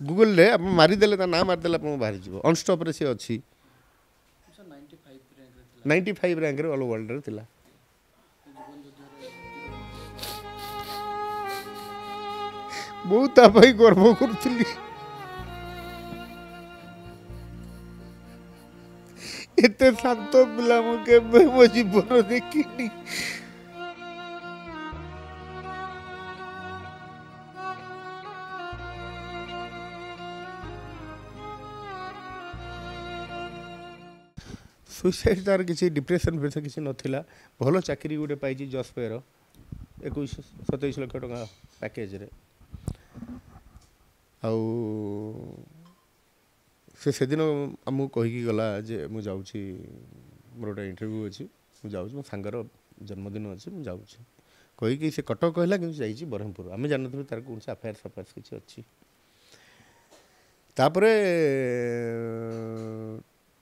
ଗୁଗୁଲରେ ଆପଣ ମାରିଦେଲେ, ତା ନାଁ ମାରିଦେଲେ ଆପଣଙ୍କୁ ବାହାରିଯିବ। ଅନଷ୍ଟପ୍ରେ ସେ ଅଛି, 95 ର୍ୟାଙ୍କରେ ଅଲ୍ ୱାର୍ଲଡରେ ଥିଲା। ବହୁତ ତା ପାଇଁ ଗର୍ବ କରୁଥିଲି। ଏତେ ଶାନ୍ତ ପିଲା ମୁଁ କେବେ ମୋ ଜୀବନ ଦେଖିନି। ସୁଇସାଇଡ଼ ତାର କିଛି ଡିପ୍ରେସନ୍ ଫିପ୍ରେସନ୍ କିଛି ନଥିଲା। ଭଲ ଚାକିରି ଗୋଟେ ପାଇଛି ଜସ୍ପେର, 21-27 ଲକ୍ଷ ଟଙ୍କା ପ୍ୟାକେଜରେ। ଆଉ ସେ ସେଦିନ ଆମକୁ କହିକି ଗଲା ଯେ ମୁଁ ଯାଉଛି, ମୋର ଗୋଟେ ଇଣ୍ଟରଭ୍ୟୁ ଅଛି, ମୁଁ ଯାଉଛି, ମୋ ସାଙ୍ଗର ଜନ୍ମଦିନ ଅଛି, ମୁଁ ଯାଉଛି କହିକି ସେ କଟକ କହିଲା, କିନ୍ତୁ ଯାଇଛି ବ୍ରହ୍ମପୁର। ଆମେ ଜାଣିନଥିଲୁ ତାର କୌଣସି ଆଫେୟାର୍ସ ଫାଫେୟାର୍ସ କିଛି ଅଛି। ତାପରେ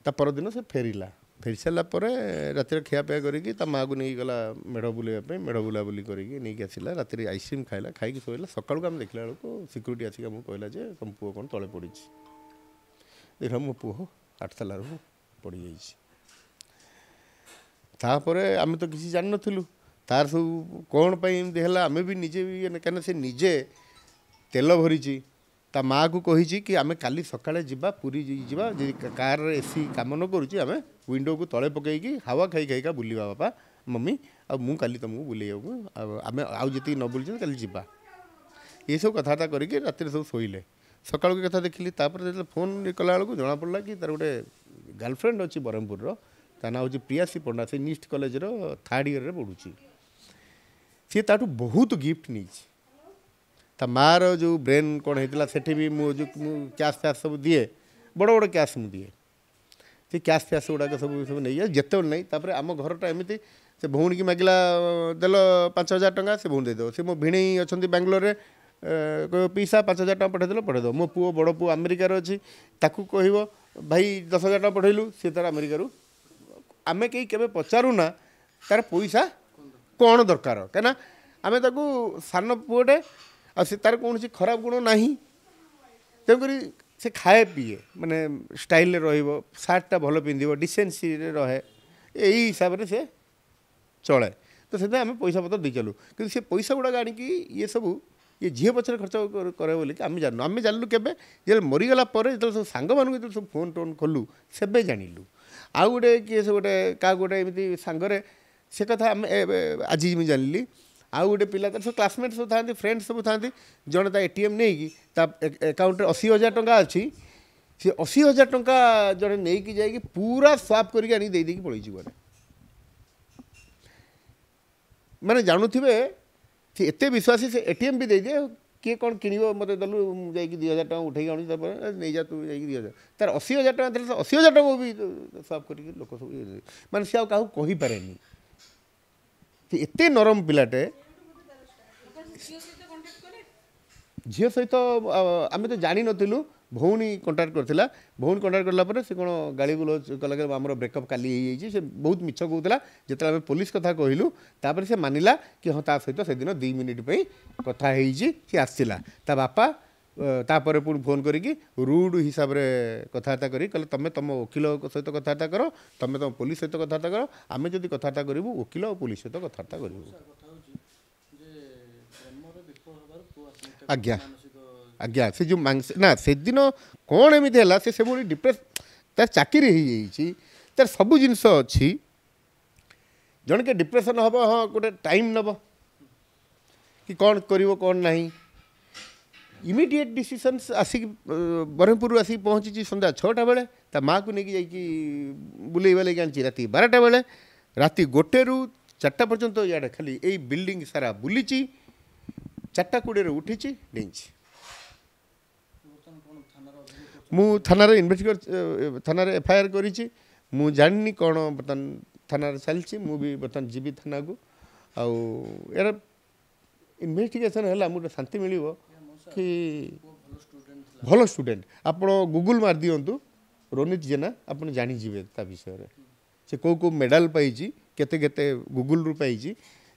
ତା ପରଦିନ ସେ ଫେରିଲା। ଫେରି ସାରିଲା ପରେ ରାତିରେ ଖିଆପିଆ କରିକି ତା ମାଆକୁ ନେଇକି ଗଲା ମେଢ଼ ବୁଲେଇବା ପାଇଁ। ମେଢ଼ ବୁଲାବୁଲି କରିକି ନେଇକି ଆସିଲା, ରାତିରେ ଆଇସ୍କ୍ରିମ୍ ଖାଇଲା, ଖାଇକି ଶୋଇଲା। ସକାଳକୁ ଆମେ ଦେଖିଲା ବେଳକୁ ସିକ୍ୟୁରିଟି ଆସିକି ଆମକୁ କହିଲା ଯେ ତମ ପୁଅ କ'ଣ ତଳେ ପଡ଼ିଛି। ଦେଖିଲା ମୋ ପୁଅ 8 ତାଲାରୁ ପଡ଼ିଯାଇଛି। ତାପରେ ଆମେ ତ କିଛି ଜାଣିନଥିଲୁ ତାର ସବୁ କ'ଣ ପାଇଁ ଏମିତି ହେଲା। ଆମେ ବି ନିଜେ ବି, କାହିଁକିନା ସେ ନିଜେ ତେଲ ଭରିଛି, ତା ମାଆକୁ କହିଛି କି ଆମେ କାଲି ସକାଳେ ଯିବା, ପୁରୀ ଯିବା, ଯଦି କାରରେ ଏସି କାମ ନ କରୁଛି ଆମେ ୱିଣ୍ଡୋକୁ ତଳେ ପକାଇକି ହାୱା ଖାଇ ଖାଇକା ବୁଲିବା ବାପା ମମି, ଆଉ ମୁଁ କାଲି ତୁମକୁ ବୁଲେଇବାକୁ, ଆଉ ଆମେ ଆଉ ଯେତିକି ନ ବୁଲିଛନ୍ତି କାଲି ଯିବା। ଏସବୁ କଥାବାର୍ତ୍ତା କରିକି ରାତିରେ ସବୁ ଶୋଇଲେ। ସକାଳକୁ କଥା ଦେଖିଲି। ତାପରେ ଯେତେବେଳେ ଫୋନ୍ କଲାବେଳକୁ ଜଣାପଡ଼ିଲା କି ତାର ଗୋଟେ ଗାର୍ଲଫ୍ରେଣ୍ଡ ଅଛି ବ୍ରହ୍ମପୁରର, ତା ନାଁ ହେଉଛି ପ୍ରିୟାସୀ ପଣ୍ଡା, ସେ ନିଷ୍ଟ କଲେଜର 3rd ଇୟର୍ରେ ପଢ଼ୁଛି। ସିଏ ତାଠୁ ବହୁତ ଗିଫ୍ଟ ନେଇଛି। ତା ମାଆର ଯେଉଁ ବ୍ରେନ୍ କ'ଣ ହେଇଥିଲା ସେଠି ବି ମୁଁ ଯେଉଁ ମୁଁ କ୍ୟାସ୍ ଫ୍ୟାସ୍ ସବୁ ଦିଏ, ବଡ଼ ବଡ଼ କ୍ୟାସ୍ ମୁଁ ଦିଏ, ସେ କ୍ୟାସ୍ ଫ୍ୟାସ୍ ଗୁଡ଼ାକ ସବୁ ସବୁ ନେଇଯାଏ ଯେତେବେଳେ ନାହିଁ। ତାପରେ ଆମ ଘରଟା ଏମିତି, ସେ ଭଉଣୀକି ମାଗିଲା ଦେଲ 5000 ଟଙ୍କା, ସେ ଭଉଣୀ ଦେଇଦେବ। ସେ ମୋ ଭିଣେଇ ଅଛନ୍ତି ବାଙ୍ଗଲୋରରେ, କହିବ ପିଇସା 5000 ଟଙ୍କା ପଠାଇଦେଲ, ପଠାଇଦେବ। ମୋ ପୁଅ ବଡ଼ ପୁଅ ଆମେରିକାରେ ଅଛି, ତାକୁ କହିବ ଭାଇ 10,000 ଟଙ୍କା ପଠାଇଲୁ, ସେ ତାର ଆମେରିକାରୁ। ଆମେ କେହି କେବେ ପଚାରୁନା ତାର ପଇସା କ'ଣ ଦରକାର, କାହିଁକିନା ଆମେ ତାକୁ ସାନ ପୁଅଟେ, ଆଉ ସେ ତାର କୌଣସି ଖରାପ ଗୁଣ ନାହିଁ, ତେଣୁକରି ସେ ଖାଏ ପିଏ, ମାନେ ଷ୍ଟାଇଲରେ ରହିବ, ସାର୍ଟଟା ଭଲ ପିନ୍ଧିବ, ଡିସେନ୍ସିରେ ରହେ, ଏଇ ହିସାବରେ ସେ ଚଳେ। ତ ସେଥିପାଇଁ ଆମେ ପଇସା ପତ୍ର ଦେଇ ଚାଲୁ। କିନ୍ତୁ ସେ ପଇସା ଗୁଡ଼ାକ ଆଣିକି ଇଏ ସବୁ ଇଏ ଝିଅ ପଛରେ ଖର୍ଚ୍ଚ କରେ ବୋଲିକି ଆମେ ଜାଣିନୁ। ଆମେ ଜାଣିଲୁ କେବେ, ଯେତେବେଳେ ମରିଗଲା ପରେ, ଯେତେବେଳେ ସବୁ ସାଙ୍ଗମାନଙ୍କୁ ଯେତେବେଳେ ସବୁ ଫୋନ୍ ଟୋନ୍ କଲୁ ସେବେ ଜାଣିଲୁ। ଆଉ ଗୋଟେ କିଏ ସେ ଗୋଟେ କାହାକୁ ଗୋଟେ ଏମିତି ସାଙ୍ଗରେ ସେ କଥା ଆମେ ଆଜି ମୁଁ ଜାଣିଲି। ଆଉ ଗୋଟେ ପିଲା ତାର ସବୁ କ୍ଲାସମେଟ୍ ସବୁ ଥାଆନ୍ତି, ଫ୍ରେଣ୍ଡ ସବୁ ଥାଆନ୍ତି, ଜଣେ ତା ATM ନେଇକି ତା ଆକାଉଣ୍ଟରେ 80,000 ଟଙ୍କା ଅଛି, ସେ 80,000 ଟଙ୍କା ଜଣେ ନେଇକି ଯାଇକି ପୁରା ସ୍ୱାପ୍ କରିକି ଆଣିକି ଦେଇ ଦେଇକି ପଳେଇଛି କୁଆଡ଼େ। ମାନେ ଜାଣୁଥିବେ ସେ ଏତେ ବିଶ୍ୱାସୀ, ସେ ATM ବି ଦେଇଦିଏ, କିଏ କ'ଣ କିଣିବ ମୋତେ ଦେଲୁ, ମୁଁ ଯାଇକି 2,000 ଟଙ୍କା ଉଠେଇକି ଆଣୁଛି, ତାପରେ ନେଇଯା ତୁ ଯାଇକି 2,000। ତାର 80,000 ଟଙ୍କା ଥିଲା, ସେ 80,000 ଟଙ୍କା ବି ସ୍ୱାପ୍ କରିକି ଲୋକ ସବୁ, ମାନେ ସେ ଆଉ କାହାକୁ କହିପାରେନି। ସେ ଏତେ ନରମ ପିଲାଟେ। ଝିଅ ସହିତ ଆମେ ତ ଜାଣିନଥିଲୁ, ଭଉଣୀ କଣ୍ଟାକ୍ଟ କରିଥିଲା। ଭଉଣୀ କଣ୍ଟାକ୍ଟ କଲା ପରେ ସେ କ'ଣ ଗାଳି ଗୁଲଜ କଲା କି ଆମର ବ୍ରେକଅପ୍ କାଲି ହେଇଯାଇଛି। ସେ ବହୁତ ମିଛ କହୁଥିଲା। ଯେତେବେଳେ ଆମେ ପୋଲିସ କଥା କହିଲୁ ତାପରେ ସେ ମାନିଲା କି ହଁ ତା ସହିତ ସେଦିନ 2 ମିନିଟ୍ ପାଇଁ କଥା ହେଇଛି, ସେ ଆସିଥିଲା। ତା ବାପା ତାପରେ ପୁଣି ଫୋନ୍ କରିକି ରୁଡ଼ ହିସାବରେ କଥାବାର୍ତ୍ତା କରି କହିଲେ ତୁମେ ତୁମ ଓକିଲ ସହିତ କଥାବାର୍ତ୍ତା କର, ତୁମେ ତୁମ ପୋଲିସ ସହିତ କଥାବାର୍ତ୍ତା କର, ଆମେ ଯଦି କଥାବାର୍ତ୍ତା କରିବୁ ଓକିଲ ଆଉ ପୋଲିସ ସହିତ କଥାବାର୍ତ୍ତା କରିବୁ। ଆଜ୍ଞା ଆଜ୍ଞା, ସେ ଯେଉଁ ମାଂସ ନା ସେଦିନ କ'ଣ ଏମିତି ହେଲା, ସେ ସେଭଳି ଡିପ୍ରେସ୍, ତାର ଚାକିରି ହେଇଯାଇଛି, ତାର ସବୁ ଜିନିଷ ଅଛି, ଜଣେ କିଏ ଡିପ୍ରେସନ୍ ହେବ, ହଁ ଗୋଟେ ଟାଇମ୍ ନେବ କି କ'ଣ କରିବ କ'ଣ ନାହିଁ। ଇମିଡ଼ିଏଟ୍ ଡିସିସନ୍ସ ଆସିକି ବ୍ରହ୍ମପୁରରୁ ଆସିକି ପହଞ୍ଚିଛି ସନ୍ଧ୍ୟା 6ଟା ବେଳେ, ତା ମାଆକୁ ନେଇକି ଯାଇକି ବୁଲେଇ ବାଲେଇକି ଆଣିଛି ରାତି 12ଟା ବେଳେ। ରାତି 1ରୁ 4ଟା ପର୍ଯ୍ୟନ୍ତ ଇଆଡ଼େ ଖାଲି ଏଇ ବିଲ୍ଡିଂ ସାରା ବୁଲିଛି, 4:20 ଉଠିଛି, ଡେଇଁଛି। ମୁଁ ଥାନାରେ ଇନଭେଷ୍ଟିଗେଟ୍, ଥାନାରେ FIR କରିଛି। ମୁଁ ଜାଣିନି କ'ଣ ବର୍ତ୍ତମାନ ଥାନାରେ ଚାଲିଛି, ମୁଁ ବି ବର୍ତ୍ତମାନ ଯିବି ଥାନାକୁ। ଆଉ ଏହାର ଇନଭେଷ୍ଟିଗେସନ୍ ହେଲା ଆମକୁ ଗୋଟେ ଶାନ୍ତି ମିଳିବ କି ଭଲ ଷ୍ଟୁଡେଣ୍ଟ। ଆପଣ ଗୁଗୁଲ୍ ମାରିଦିଅନ୍ତୁ ରୋନିତ ଜେନା, ଆପଣ ଜାଣିଯିବେ ତା ବିଷୟରେ, ସେ କେଉଁ କେଉଁ ମେଡ଼ାଲ ପାଇଛି, କେତେ କେତେ ଗୁଗୁଲ୍ରୁ ପାଇଛି।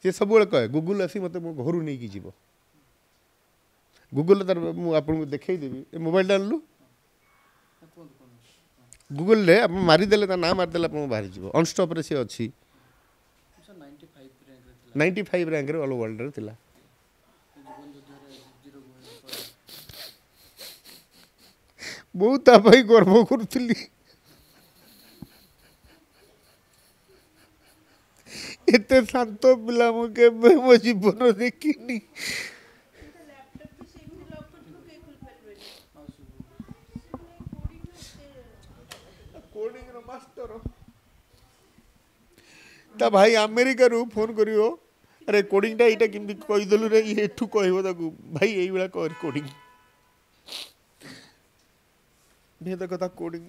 ସେ ସବୁବେଳେ କହେ ଗୁଗୁଲ୍ ଆସି ମୋତେ ମୋ ଘରୁ ନେଇକି ଯିବ। ଗୁଗଲରେ ତାର ମୁଁ ଆପଣଙ୍କୁ ଦେଖେଇଦେବି। ଏ ମୋବାଇଲଟା ଆଣିଲୁ। ଗୁଗଲରେ ଆପଣ ମାରିଦେଲେ, ତା ନାଁ ମାରିଦେଲେ ଆପଣଙ୍କୁ ବାହାରିଯିବ। ଅନଷ୍ଟପ୍ରେ ସେ ଅଛି, 95 ର୍ୟାଙ୍କରେ ଅଲ୍ ୱାର୍ଲଡରେ ଥିଲା। ବହୁତ ତା ପାଇଁ ଗର୍ବ କରୁଥିଲି। ଏତେ ଶାନ୍ତ ପିଲା ମୁଁ କେବେ ମୋ ଜୀବନ ଦେଖିନି। କୋଡ଼ିଂର ମାଷ୍ଟର। ତା ଭାଇ ଆମେରିକାରୁ ଫୋନ୍ କରିବ, ଆରେ କୋଡ଼ିଂଟା ଏଇଟା କେମିତି କହିଦେଲୁ ରେ? ଇଏ ଏଠୁ କହିବ ତାକୁ, ଭାଇ ଏଇଭଳିଆ କର କୋଡ଼ିଂ। ଭେଦ କଥା କୋଡ଼ିଂ।